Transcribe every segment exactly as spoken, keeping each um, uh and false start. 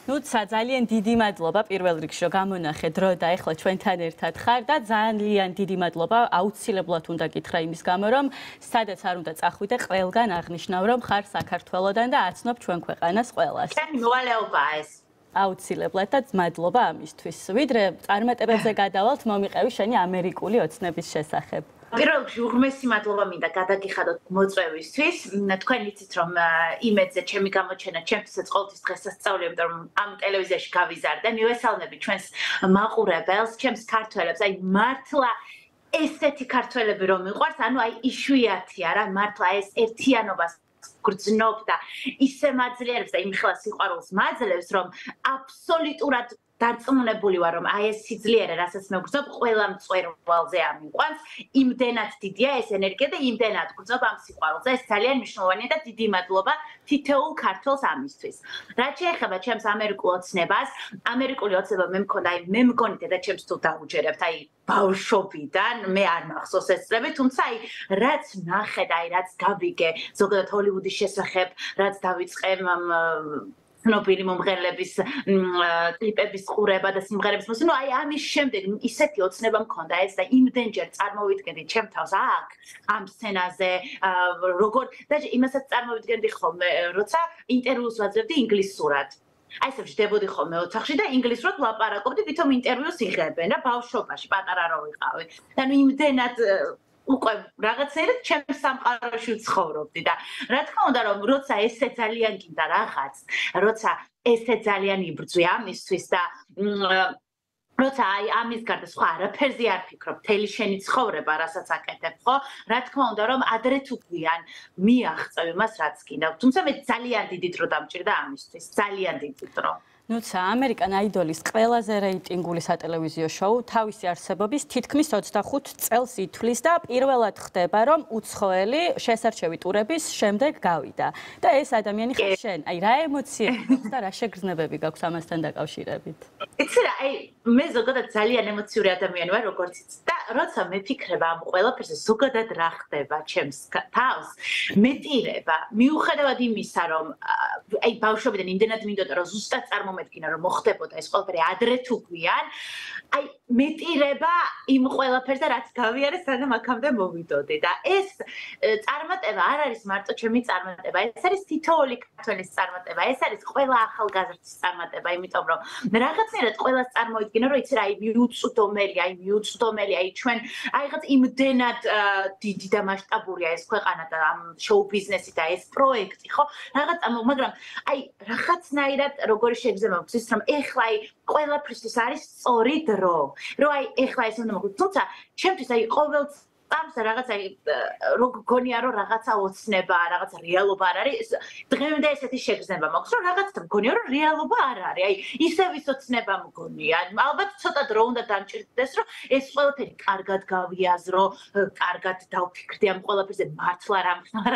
ნუ ძალიან დიდი მადლობა პირველ რიგში რომ გამონახე დრო და ეხლა ჩვენთან ერთად ხარ და ძალიან დიდი მადლობა აუცილებლად უნდა გითხრა იმის გამო რომ სადაც არ უნდა წახვიდე ყველგან აღნიშნავ რომ ხარ საქართველოდან და აცნობ ჩვენ ქვეყანას ყველას. ჩემი მოვალეობაა ეს. აუცილებლად და მადლობა ამისთვის. ვიდრე წარმატებებზე გადავალთ, მომიყევი შენი ამერიკული ოცნების შესახებ. პირველ რიგში უღმესი მადლობა მინდა გადაგიხადოთ მოწვევისთვის. თქვენ იცით რომ იმედზე ჩემი გამოჩენა ჩემთვისაც ყოველთვის დღესასწაულია, იმიტომ რომ ამ ტელევიზიაში გავიზარდე. მივესალმები ჩვენს მაყურებელს, ჩემს ქართველებს, აი მართლა ესეთი ქართველები რომ მიყვარს, ანუ აი იშვიათია რა, მართლა ეს ერთიანობას გრძნობ და ისე მაძლიერებს და იმხელა სიყვარულს მაძლევს, რომ აბსოლუტურად დარწმუნებული ვარ რომ აი ეს სიძლიერე რასაც მეგრძნობ ყველა მწვერვალზე ამიყვანს იმდენად დიდია ეს ენერგია და იმდენად გრძნობ ამ სიყვარულზე ეს ძალიან მნიშვნელოვანია და დიდი მადლობა თითოეულ ქართველს ამისთვის რაც შეეხება ჩემს ამერიკულ ოცნებას ამერიკული ოცნება მე მქონდა აი მე მგონი და ჩემს თუ დაუჯერებთ აი ბავშვობიდან მე არ მახსოვს ეს წლები თუმცა აი რაც ნახე და აი რაც გავიგე ზოგადად ჰოლივუდის შესახებ რაც დავიწყე ცნობილი მომღერლების კლიპების ყურება და სიმღერების მოსვლა. ნუ აი ამის შემდეგ ისეთი ოცნება მქონდა ეს და იმდენჯერ წარმოვიდგენდი ჩემ თავს აქ ამ სცენაზე როგორ და იმასაც წარმოვიდგენდი ხოლმე როცა ინტერვიუს ვაძლევდი ინგლისურად. აი ესე ვждებოდი ხოლმე ოთახში და ინგლისურად ვლაპარაკობდი, თვითონ ინტერვიუს იღებენ რა ბავშვობაში, პატარა რო ვიყავი. და ნუ იმდენად უკვე რაღაცნაირად ჩემს სამყაროში ვცხოვრობდი და რა თქმა უნდა რომ როცა ესე ძალიან გინდა რაღაც, როცა ესე ძალიან იბრძვი ამისთვის და როცა აი ამის გარდა სხვა არაფერზე არ ფიქრობ, მთელი შენი ცხოვრება, რასაც აკეთებ, ხო? რა თქმა უნდა რომ ადრე თუ გვიან მიაღწევ იმას, რაც გინდა. თუმცა მე ძალიან დიდი დრო დამჭირდა ამისთვის, ძალიან დიდი დრო. ნუცა ამერიკან აიდოლის ყველაზე რეიტინგული სატელევიზიო შოუ თავისი არსებობის თითქმის ოცდახუთ წელს ითვლის და პირველად ხდება რომ უცხოელი შესარჩევი ტურების შემდეგ გავიდა და ეს ადამიანი ხარ შენ აი რა ემოციები გაქვს და რა შეგრძნებები გაქვს ამასთან დაკავშირებით იცი რა აი მე ზოგადად ძალიან ემოციური ადამიანი ვარ როგორც იცი და როცა მефიქრებ ამ ყველაფერზე ზოგადად რა ხდება ჩემს თავს მეტირება მიუხედავად იმისა რომ აი ბავშვობიდან იმდენად მინდოდა რომ ზუსტად წარმო მედგინა რომ მოხდებოდა ეს ყველაფერი ადრე თუ გვიან აი მეტირება იმ ყველაფერზე რაც გავიარე სანამ აქამდე მოვიდოდი და ეს წარმატება არ არის მარტო ჩემი წარმატება ეს არის თითოეული ქართველის წარმატება ეს არის ყველა ახალგაზრდის წარმატება იმიტომ რომ რაღაცნაირად ყველას წარმოიდგინა რომ იცი რა აი მიუწვდომელი აი მიუწვდომელი აი ჩვენ აი რაღაც იმდენად დიდი და მასშტაბურია ეს ქვეყანა და ამ შოუ ბიზნესი და ეს პროექტი ხო რაღაც მაგრამ აი რაღაცნაირად როგორი შეგზება მგზის რომ ეხლა აი ყველაფრისთვის არის სწორი დრო რომ აი ეხლა ეს უნდა მოხდეს თუმცა ჩემთვის აი ყოველ წამს რაღაც აი რო გქონია რომ რაღაცა ოცნება რაღაცა რეალობა არ არის დღემდე ესეთი შეგრძნება მაქვს რომ რაღაცა მგონია რომ რეალობა არ არის აი ისევ ის ოცნება მგონია ალბათ ცოტა დრო უნდა დამჭირდეს რომ ეს ყველაფერი კარგად გავიაზრო კარგად დავფიქრდი ამ ყველაფერზე მართლა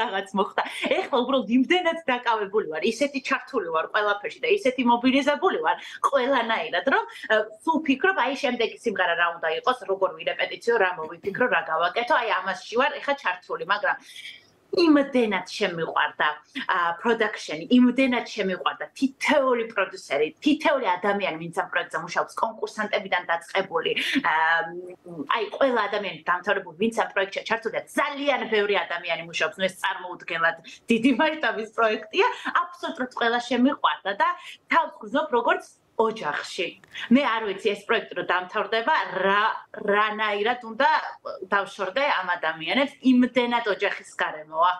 რაღაც მოხდა ეხლა უბრალოდ იმდენად დაკავებული ვარ ისეთი ჩართული ვარ ყველაფერში და ისეთი მობილიზებული ვარ ყველანაირად რომ სულ ფიქრობ აი შემდეგი სიმღერა რა უნდა იყოს როგორ ვირეპეტიციო რა მოვიფიქრო რა გავაკეთო აი ამასში ვარ ეხა ჩართული მაგრამ იმდენად შემიყვარდა პროდაქშენი იმდენად შემიყვარდა თითოეული პროდიუსერი თითოეული ადამიანი ვინც ამ პროექტზე მუშაობს კონკურსანტებიდან დაწყებული აი ყველა ადამიანი დამთავრებული ვინც ამ პროექტში ჩართულია ძალიან ბევრი ადამიანი მუშაობს ნუ ეს წარმოუდგენლად დიდი მასშტაბის პროექტია აბსოლუტურად ყველა შემიყვარდა და თავს გრძნობ როგორც ოჯახში. მე არ ვიცი ეს პროექტი რომ დამთავრდება რა რანაირად უნდა დავშორდე ამ ადამიანებს იმდენად ოჯახის გარემოა.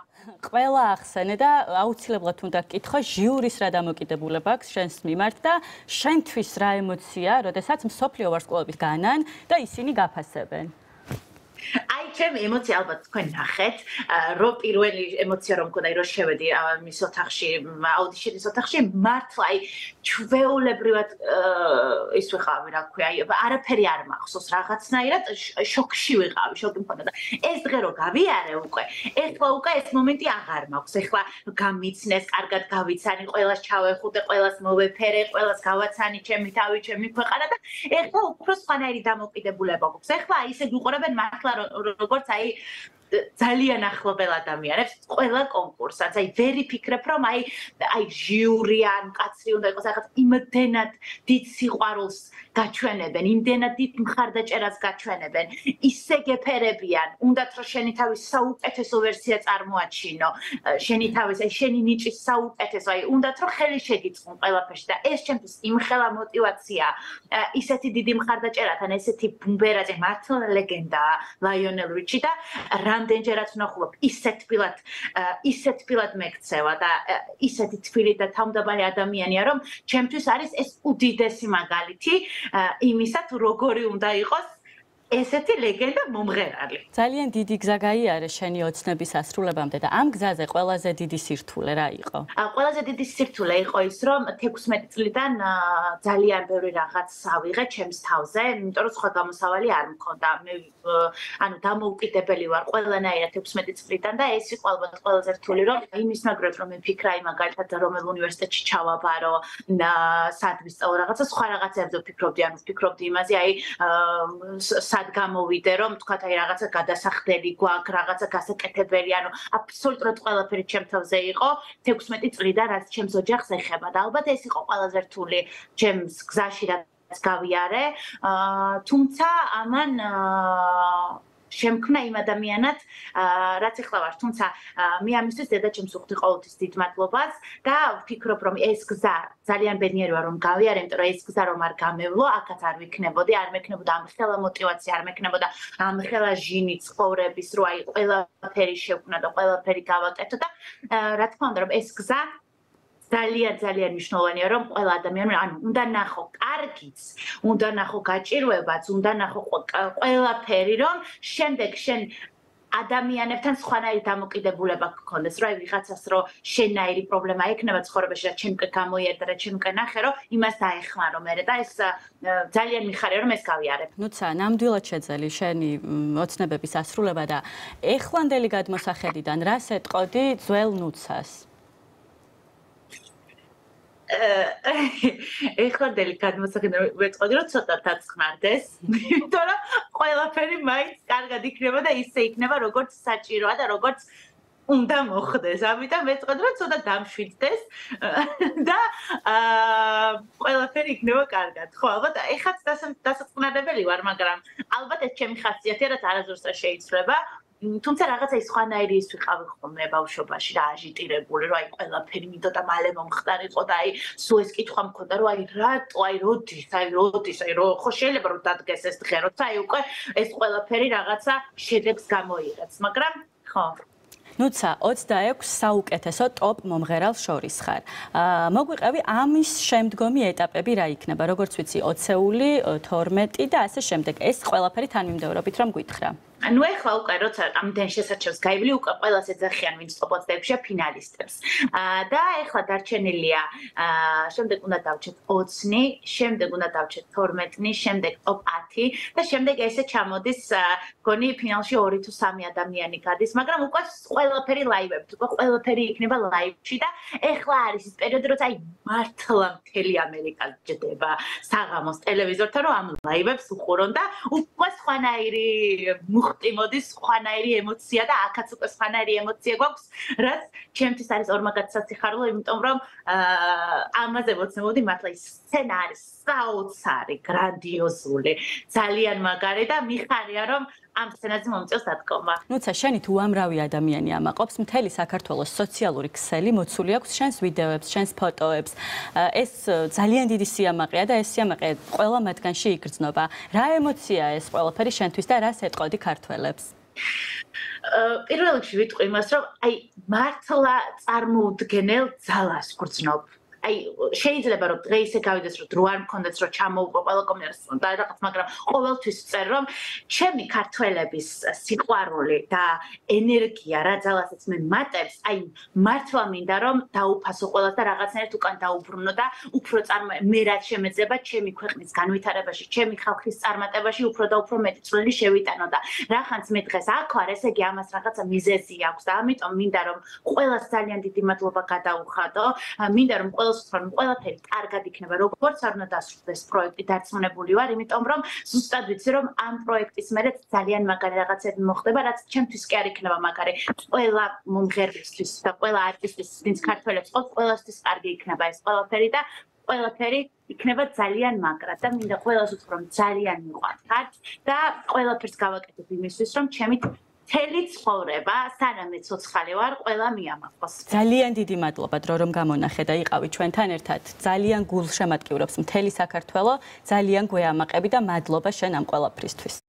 ყველა ახსენე და აუცილებლად უნდა გკითხო ჟიურის რა დამოკიდებულება აქვს შენს მიმართ და შენთვის რა ემოცია, როდესაც მსოფლიო ვარსკვლავების განან და ისინი გაფასებენ. აი ჩემი ემოცია ალბათ თქვენ ნახეთ რომ პირველი ემოცია რომ მქონდა რომ შევედი მის ოთახში აუდიშნის ოთახში მართლა აი ჩვეულებრივად ის ვიყავი რა ქვია აი არაფერი არ მახსოვს რაღაცნაირად შოკში ვიყავი შოკი მქონდა და ეს დღე რომ გავიარე უკვე ეხლა უკვე ეს მომენტი აღარ მაქვს ეხლა გამიცნეს კარგად გავიცანი ყველას ჩავეხუტე ყველას მოვეფერე ყველას გავაცანი ჩემი თავი ჩემი ქვეყანა და ეხლა უფრო სხვანაირი დამოკიდებულება გვაქვს ეხლა ისე გიყურებენ მართლა როგორც აი ძალიან ახლობელ ადამიანებს ყველა კონკურსაც. აი ვერი ფიქრებ, რომ აი აი ჟიური ან კაცრი უნდა იყოს, რაღაც იმდენად დიდ სიყვარულს გაჩვენებენ, იმდენად დიდ მხარდაჭერას გაჩვენებენ. ისე გეფერებიან, უნდათ რომ შენი თავის საუკეთესო ვერსია წარმოაჩინო, შენი თავის აი შენი ნიჭის საუკეთესო, აი უნდათ რომ ხელი შეგიწყონ ყველაფერში და ეს ჩემთვის იმხელა мотиваცია, ისეთი დიდი მხარდაჭერათან, ესეთი ბუმბერაძე მართლა ლეგენდაა ლაიონელ რიჩი და რამდენჯერაც ვნახულობ ისეთ თბილად ისეთ თბილად მეკცევა და ისეთი თბილი და თავმდაბალი ადამიანია რომ ჩემთვის არის ეს უდიდესი მაგალითი იმისა თუ როგორი უნდა იყოს ესეთი ლეგენდა მომღერალი. ძალიან დიდი გზა გაიარე შენი ოცნების ასრულებამდე და ამ გზაზე ყველაზე დიდი სირთულე რა იყო? ყველაზე დიდი სირთულე იყო ის, რომ თექვსმეტი წლიდან ძალიან ბევრი რაღაც ავიღე ჩემს თავზე, იმიტომ რომ სხვა გამოსავალი არ მქონდა. მე ანუ დამოუკიდებელი ვარ ყველანაირად თექვსმეტი წლიდან და ეს იყო ალბათ ყველაზე რთული, რომ იმის მაგრად რომ მე ფიქრა იმ მაგალითად რომელ უნივერსიტეტში ჩავაბარო, სად ვისწავლო რაღაცა, სხვა რაღაცებზე ვფიქრობდი, ანუ ვფიქრობდი იმაზე, აი სად გამოვიდე, რომ თქვათ აი რაღაცა გადასახდელი გვაქვს, რაღაცა გასაკეთებელი, ანუ აბსოლუტურად ყველაფერი ჩემ თავზე იყო თექვსმეტი წლიდან, რაც ჩემს ოჯახს ეხება და ალბათ ეს იყო ყველაზე რთული ჩემს გზაში, რაც გავიარე, თუმცა ამან შემქმნა იმ ადამიანად, რაც ახლა ვარ, თუმცა მე ამისთვის დედაჩემს ვუხდი ყოველთვის დიდ მადლობას და ვფიქრობ, რომ ეს გზა ძალიან ბედნიერი ვარ, რომ გავიარე, იმიტომ რომ ეს გზა რომ არ გამევლო, აქაც არ ვიქნებოდი, არ მექნებოდა ამხელა мотиваცია, არ მექნებოდა ამხელა ჟინი ცხოვრების, რომ აი ყველაფერი შევქმნა და ყველაფერი გავაკეთო და რა თქმა უნდა, რომ ეს გზა ძალიან ძალიან მნიშვნელოვანია, რომ ყველა ადამიანი, ანუ უნდა ნახო კარგიც, უნდა ნახო გაჭირვებაც, უნდა ნახო ყველაფერი, რომ შემდეგ შენ ადამიანებთან სხვანაირი დამოკიდებულება გქონდეს, რომ აი ვიღაცას რო შენაირი პრობლემა ექნება ცხოვრებაში, რაც ჩემ გამოიერდა, რაც ჩემ ნახე, რომ იმას დაეხმარო მე და ეს ძალიან მიხარია, რომ ეს გავიარებ. ნუცა, ნამდვილად შეძელი შენი ოცნებების ასრულება და ეხლანდელი გადმოსახედიდან რას ეტყოდი ძველ ნუცას? ეხლანდელი გადმოსახედიდან ვეწყოდი, რომ ცოტა დაწნარდეს, იმიტომ რომ ყველაფერი მაინც კარგად იქნება და ისე იქნება, როგორც საჭიროა და როგორც უნდა მოხდეს. ამიტომ ვეწყოდი, რომ ცოტა დამშვიდდეს და ყველაფერი იქნება კარგად. ხო, ალბათ ეხაც დასაწყნარებელი ვარ, მაგრამ ალბათ ეს ჩემი ხასიათია, რაც არასდროს არ შეიცვლება. თუმცა რაღაცა ის სხვანაირი ის ვიყავი ხოლმე ბავშვობაში რა აჟიტირებული, რომ აი ყველაფერი მინდოდა მალე მომხდარიყო და აი სულ ეს კითხვა მქონდა, რომ აი რატო, აი როდის, აი როდის, აი რო ხო შეიძლება რომ დადგეს ეს დღე, როცა აი უკვე ეს ყველაფერი რაღაცა შედეგს გამოიღებს, მაგრამ ხო ნუცა, ოცდაექვსი საუკეთესო ტოპ მომღერალს შორის ხარ. მოგვიყევი ამის შემდგომი ეტაპები რა იქნება, როგორც ვიცი, ოცეული, თორმეტი და ასე შემდეგ. ეს ყველაფერი თანმიმდევრობით რომ გითხრა. ანუ ეხლა უკვე როცა ამდენ შესაჩევს გაივლი, უკვე ყველას ეძახიან ვინც ტოპ ოცდაექვსია ფინალისტებს. და ეხლა დარჩენილია, შემდეგ უნდა დავჩეთ ოცი, შემდეგ უნდა დავჩეთ თორმეტი, შემდეგ ტოპ ათი და შემდეგ ესე ჩამოდის, გონი ფინალში ორი თუ სამი ადამიანი გადის, მაგრამ უკვე ყველაფერი ლაივებით, უკვე ყველაფერი იქნება ლაივში და ეხლა არის ის პერიოდი, როცა აი მართლა მთელი ამერიკა ჯდება საღამოს ტელევიზორთან, რომ ამ ლაივებს უყურონ და უკვე სხვანაირი მუხტი მოდის, სხვანაირი ემოცია და აქაც უკვე სხვანაირი ემოცია გვაქვს, რაც ჩემთვის არის ორმაგად სასიხარულო, იმიტომ რომ ამაზე მოცემობდი მართლა ის სცენა არის საოცარი, გრანდიოზული, ძალიან მაგარი და მიხარია რომ ამ სცენაზე მომწევს დადგომა. ნუცა, შენით უამრავი ადამიანი ამაყობს, მთელი საქართველოს სოციალური ქსელი მოცული აქვს შენს ვიდეოებს, შენს ფოტოებს. ეს ძალიან დიდი სიამაყეა და ეს სიამაყე ყველა მათგანში იგრძნობა. რა ემოციაა ეს ყველაფერი შენთვის და რას ეტყოდი ქართველებს? პირველ რიგში ვიტყვი იმას, რომ აი მართლა წარმოუდგენელ ძალას გრძნობ. აი შეიძლება რომ დღე ისე გავიდეს რომ დრო არ მქონდეს რომ ჩამოუყო ყველა კომენტარს და რაღაც, მაგრამ ყოველთვის ვწერ რომ ჩემი ქართველების სიყვარული და ენერგია რა ძალასაც მე მატებს, აი მართლა მინდა რომ დაუფასო ყველას და რაღაცნაირად უკან დაუბრუნო და უფრო წარმო მე რაც შემეძლება ჩემი ქვეყნის განვითარებაში, ჩემი ხალხის წარმატებაში უფრო და უფრო მეტი წვლილი შევიტანო და რახანც მე დღეს აქ ვარ, ესე იგი ამას რაღაცა მიზეზი აქვს და ამიტომ მინდა რომ ყველას ძალიან დიდი მადლობა გადაუხადო, მინდა რომ ყველას ყველას ვთქვი, რომ ყველაფერი კარგად იქნება, როგორც არ უნდა დასრულდეს პროექტი, დარწმუნებული ვარ, იმიტომ რომ ზუსტად ვიცი, რომ ამ პროექტის მერე ძალიან მაგარი რაღაცები მოხდება, რაც ჩემთვის კი არ იქნება მაგარი. ყველა მომღერლისთვის და ყველა არტისტის, ვინც ქართველებს ყავს, ყველასთვის კარგი იქნება ეს ყველაფერი და ყველაფერი იქნება ძალიან მაგრად და მინდა ყველას ვთქვი, რომ ძალიან მიყვართ და ყველაფერს გავაკეთებ იმისთვის, რომ ჩემი მთელი ცხოვრება, სანამ ცოცხალი ვარ, ყველა მიამაყოს. ძალიან დიდი მადლობა დრო რომ გამონახე და იყავი ჩვენთან ერთად. ძალიან გულშემატკივრობს მთელი საქართველო, ძალიან გვეამაყები და მადლობა შენ ამ ყველაფრისთვის.